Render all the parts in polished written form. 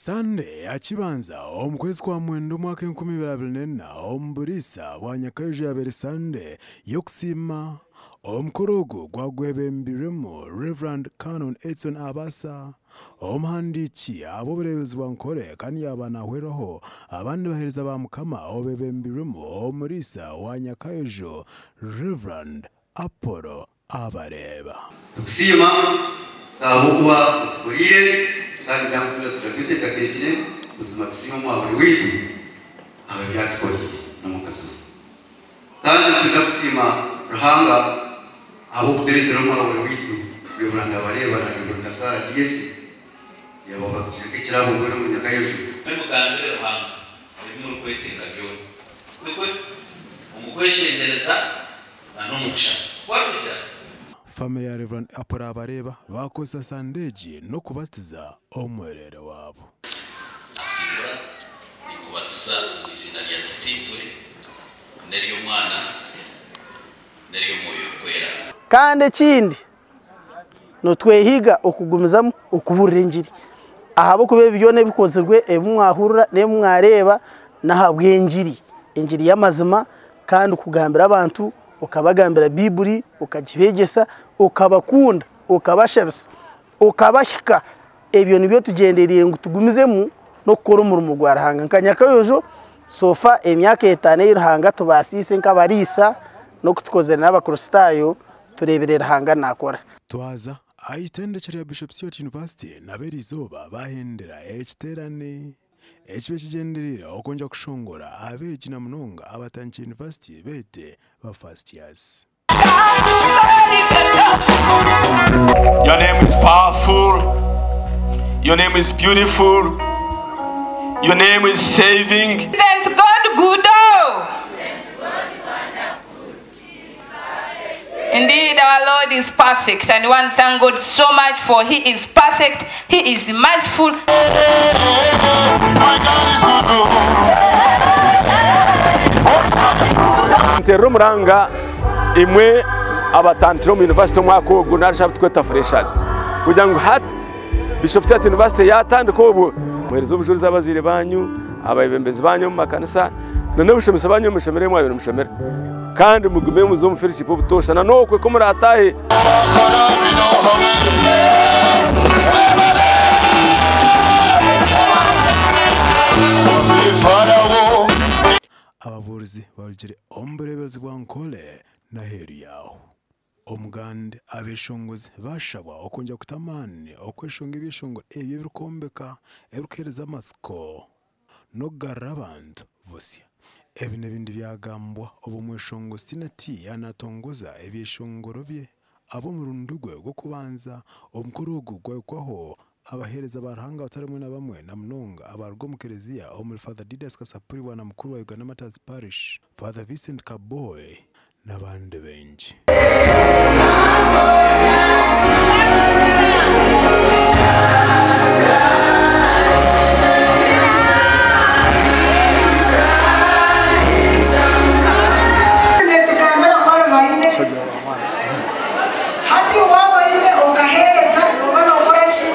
Sande ya Kibanza omu kwezi kwa Mwenda omwaka 2024 omu buriisa bwa Nyakaiju yabaire Sande y'okusiima. Omukoro ogu gwagwebembirwemu Rev. Canon Edson Abasa, omuhandiiki ahabw'obureebezi bwa Nkore kandi yaaba nahwerwaho abandi baheereza ba Mukama obebembirwemu omuriisa wa Nyakaiju Rev. Apollo Abareeba. Tukusiima ahabw'okuba otuhuriire kandi ngira ngu twena tugira tweteekateekire buzima tusiime Omwahuri waitu ahabw'ebi atukoreire n'omukazi we. Kandi nitwenda kusiima Ruhanga ahabw'okutureetera Omwahuri waitu Rev. Abareeba na Rev. Sarah Diesi yaaba batugira nk'ekirabo mbwenu omuri Nyakayojo. Imwe mugambire Ruhanga ebi murikwetenga byona. Kwekwe omu kweshengyereza na n'omu kushaba. Ku arikugira. Famire ya Rev. Apollo Abareeba baakozesa Sande egi n'okubatiza omwereere waabo. Nasiibura, ninkubatiza omu iziina rya Tataitwe, n'ery'Omwana, n'ery'Omwoyo Orikwera. Kandi ekindi, nitwehiga okugumizamu okubuurira engiri, ahabw'okuba ebi byona ebikozirwe, ebi mwahurira n'ebi mwareeba n'ahabw'engiri, engiri y'amazima kandi kugambira abantu okabagambira Baiburi, okagibeegyesa, okabakunda, okabashabisa, okabahika, ebyo nibyo tugyendereire ngu tugumizemu n'okukora omurimo gwa Ruhanga. Nka Nyakayojo so far emyaka etaano ei Ruhanga atubaasiise nk'abariisa n'oku tukozire n'Abakristaayo, tureebire Ruhanga naakora. Twaza aha itendekye rya Bishop Stuart University nabo eriizooba bahendera ekiteerane ekibe kigyendereire okwongera kushongora abeegi na munonga abatandikire yunivasite beete ba first years. Your name is powerful. Your name is beautiful. Your name is saving. Isn't God good? Oh? Indeed, our Lord is perfect, and we want to thank God so much for He is perfect, He is merciful. Nterera omuranga imwe abatandikire omu yunivasite omwaka ogu narishi abu turikweta freshers kugira ngu hati Bishop Stuart University yatandika obwo muhereze obujurizi abazaire banyu, abebembezi banyu omu makanisa na n'abashomesa banyu omu mashomero ahu mwabaire nimushomera kandi mugume muze omu fellowship obutoosha na n'okwe ku muraataahe. Ababuurizi barugire omu bureeberezi bwa Nkole n'aheeru yaaho. Omugande abeshongozi baashabwa okwongyera kuta amaani okweshonga ebyeshongoro ebyo ebirikwombeka, ebirikuheereza amatsiko n'okugarura abantu busya. Ebi n'ebindi byagambwa obu omweshongozi Tina Tee yaaba naatongoza ebyeshongoro bye ahabw'omurundi gwe gw'okubanza. Omukoro ogu gwahikwaho abaheereza ba Ruhanga batari bamwe na bamwe na munonga abaruga omu kereziya omuri Father Didas Kasapuri Bwana Mukuru wa Uganda Martyrs Parish, Father Vincent Kaboy n'abandi baingi. Neetugambira ngu arubaine. Hati waaba oine okaheereza nooba nookora ki?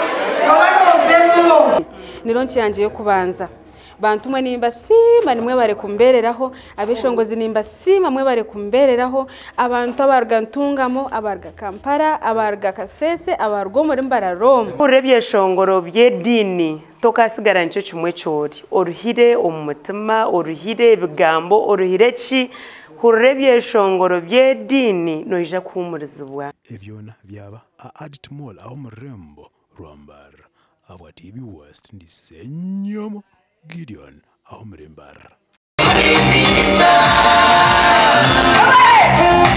Nooba noopemwa. Ni ronki yangye y'okubanza. Bantu mwe nimbasiima nimwebare kumbeereraho, abeshongozi nimbasiima mwebare kumbeereraho, abantu abaruga Ntungamo, abaruga Kampala, abaruga Kasese, abaruga omuri Mbarara omu. Hurira ebyeshongoro by'ediini tokaasigara nikyo kimwe eki ori. Oruhire omu mutima, oruhire ebigambo, oruhire ki? Hurira ebyeshongoro by'ediini noija kuhuumurizibwa. Ebi byona byaba aha Adit Mall ah'omu rurembo rwa Mbarara. Ahabwa TV West ndi Ssenyomo Gideon ah'omuri Mbarara.